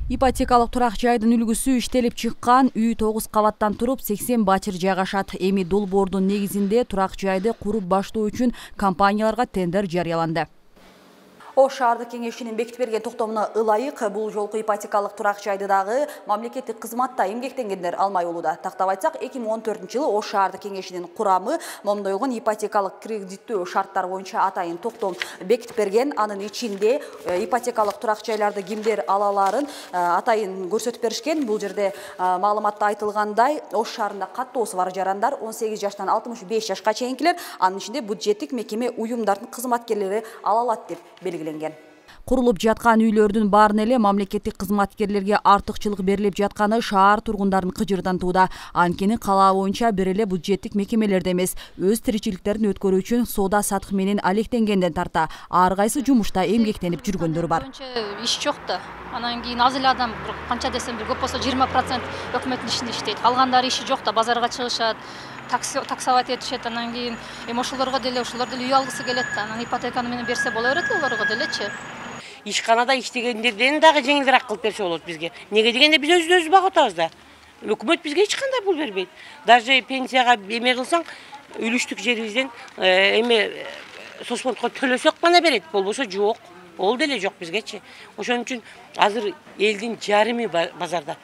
Ипотекалык турак жайдын үлгүсү иштелип чыккан үй 9 кабаттан туруп 80 бачыр жайгашат. Эми долбоордун негизинде турак жайды куруп баштоо үчүн компанияларга тендер жарыяланды. Ош шаардык кеңешинин бекитип берген токтомуна ылайык бул жолку ипотекалык турак жайды дагы мамлекеттик кызматта эмгектенгендер алмай болууда. Тактап айтсак, 2014-жылы Ош шаардык кеңешинин курамы момдойгон ипотекалык кредиттөө шарттар боюнча атайын токтом бекитип берген. Анын ичинде ипотекалык турак жайларды кимдер ала аларын атайын көрсөтүп беришкен. Бул жерде маалыматта айтылгандай, Ош шаарында каттоосу бар жарандар 18 жаштан 65 жашка чейинкилер, анын ичинде бюджеттик мекеме уюмдардын кызматкерлери ала алат деп белгиленген. Курулуп жаткан үйлөрдүн баарын эле мамлекеттик кызматкерлерге артыкчылык берилип жатканы шаар тургундарын кыжырдантууда. Анткени кала боюнча бир эле бюджеттик мекемелерде эмес, өз тиричиликтерин өткөрүү үчүн соода сатык менен алектенгенден тарта ар кайсы жумушта эмгектенип жүргөндөр бар. Иш жок да. Анан кийин аз эле адам канча десем бир көп болсо 20% өкмөттүн ишинде иштейт. Калгандары иши жок да, базарга чыгышат, таксовать этишет. Анан кийин ошолорго деле үй алгысы келет да. Анан ипотеканы менен берсе боло берет олорго делечи. Ишканада иштегендерден дагы жеңилирээк кылып берсе болот бизге. Неге дегенде биз өзүбүздү багып атабыз да. Өкмөт бизге эч кандай пул бербейт. Даже пенсияга эме кылсаң, үлүштүк жерибизден соцфондко төлөсөк гана берет, болбосо жок. Ол деле жок бизгечи. Ошон үчүн азыр элдин жарымы базарда.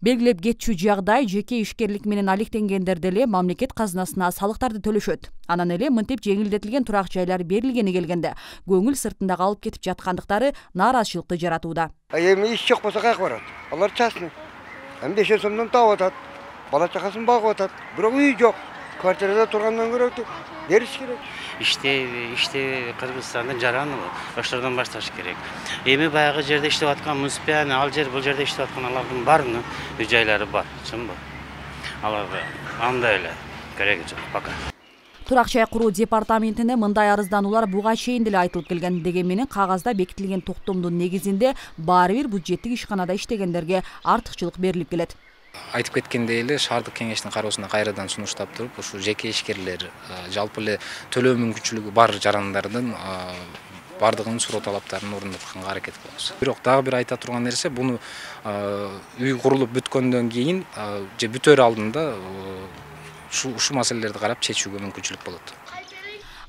Белгилеп кетчү жагдай жеке ишкерлик менен алектенгендер деле мамлекет казынасына салыктарды төлөшөт. Анан эле мынтип жеңилдетилген турак жайлар берилгени келгенде көңүл сыртында калып кетип жаткандыктары нааразычылыкты жаратууда. Эми иш жок болсо каяка барат? Алар частный. 5 сомдон таап атат. Бала чакасын багып атат. Бирок үй жок. Квартирада тургандан көрө бериш керек. Иште Кыргызстандын жараны ошолордон башташ керек. Эми баягы жерде иштеп аткан Муспианы, ал жер бул жерде иштеп аткан алардын баарынын үй жайлары бар, чынбы? Аларга андай эле кереги жок пока. Турак жай куруу департаментине мындай арыздануулар буга чейин деле айтылып келген. Дегенменен кагазда бекитилген токтомдун негизинде баары бир бюджеттик ишканада иштегендерге артыкчылык берилип келет. Айтып кеткендей эле шаардык кеңештин кароосуна кайрадан сунуштап туруп, ушу жеке ишкерлер, жалпы эле төлөө мүмкүнчүлүгү бар жарандардын бардыгынын суроо талаптарын орнотконго аракет кылабыз. Бирок дагы бир айта турган нерсе, буну үй курулуп бүткөндөн кийин же бүтөр алдында ушу маселелерди карап чечүүгө мүмкүнчүлүк болот.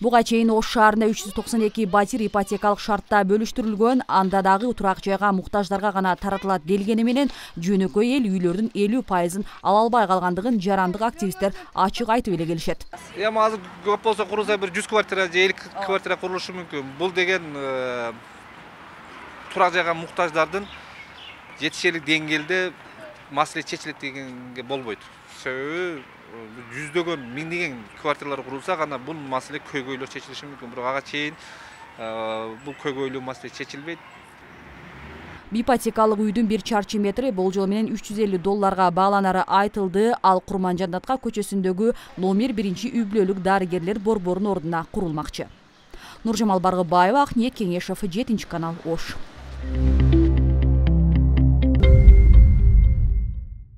Буга чейин Ош шаарында 392 батир ипотекалык шартта бөлүштүрүлгөн, анда дагы турак жайга муктаждарга гана таратылат делгени менен жөнөкөй эл үйлөрдүн 50% ала албай калгандыгын жарандык активисттер ачык айтып эле келишет. Эми азыр көп болсо курулса бир 100 квартира же 50 квартира курулушу мүмкүн. Бул деген турак жайга муктаждардын жетишерлик деңгээлде маселе чечилет дегенге болбойт. Себеби жүздөгөн, миңдеген квартиралар курулса гана бул маселе көйгөйлөр чечилиши мүмкүн. Бирок ага чейин бул көйгөйлүү маселе чечилбейт. Ипотекалык үйдүн 1 чарчы метри болжол менен $350 бааланары айтылды. Ал Курманжандатка көчөсүндөгү номер 1-үй бүлөлүк дарыгерлер борборунун ордуна курулмакчы. Нуржамал Баргыбаева, Акниет Кеңешев, 7 канал, Ош.